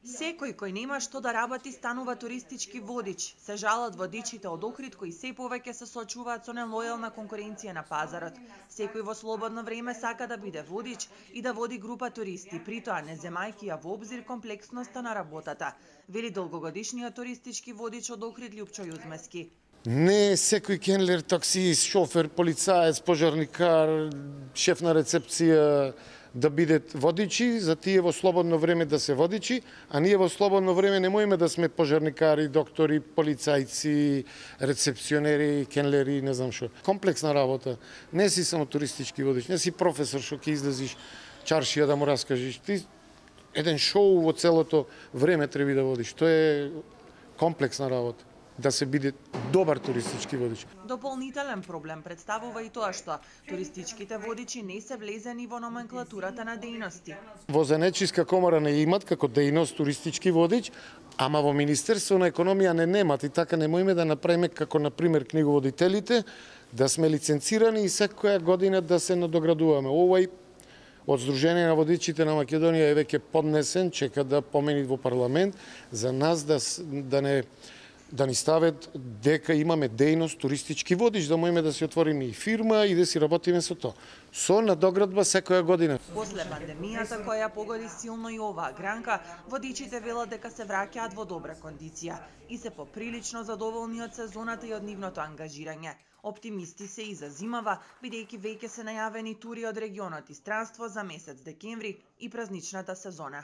Секој кој нема што да работи станува туристички водич. Се жалат водичите од Охрид кои се повеќе се соочуваат со нелојална конкуренција на пазарот. Секој во слободно време сака да биде водич и да води група туристи, притоа не земајќи ја во обзир комплексноста на работата, вели долгогодишниот туристички водич од Охрид Љупчо Јузмески. Не секој кенлер, таксист, шофер, полицаец, пожарникар, шеф на рецепција да бидат водичи, за тие во слободно време да се водичи, а ние во слободно време не можеме да сме пожарникари, доктори, полицајци, рецепционери, кенлери, не знам што. Комплексна работа. Не си само туристички водич, не си професор што ќе излезиш чаршија да му раскажеш. Ти еден шоу во целото време треба да водиш. Тоа е комплексна работа. Да се биде добар туристички водич. Дополнителен проблем представува и тоа што туристичките водичи не се влезени во номенклатурата на дејности. Во Занаетчиска комора не имат како дејност туристички водич, ама во Министерство на економија не немат и така не можеме да направиме како на пример книговодителите, да сме лиценцирани и секоја година да се надоградуваме. Овој од Сдружение на водичите на Македонија е веќе поднесен, чека да помени во парламент за нас да ни стават дека имаме дејност туристички водич, да можеме да си отвориме и фирма и да си работиме со тоа. Со надоградба секоја година. После пандемијата која погоди силно и оваа гранка, водичите велат дека се враќаат во добра кондиција и се поприлично задоволни од сезоната и од нивното ангажирање. Оптимисти се и за зимава, бидејќи веќе се најавени тури од регионот и странство за месец декември и празничната сезона.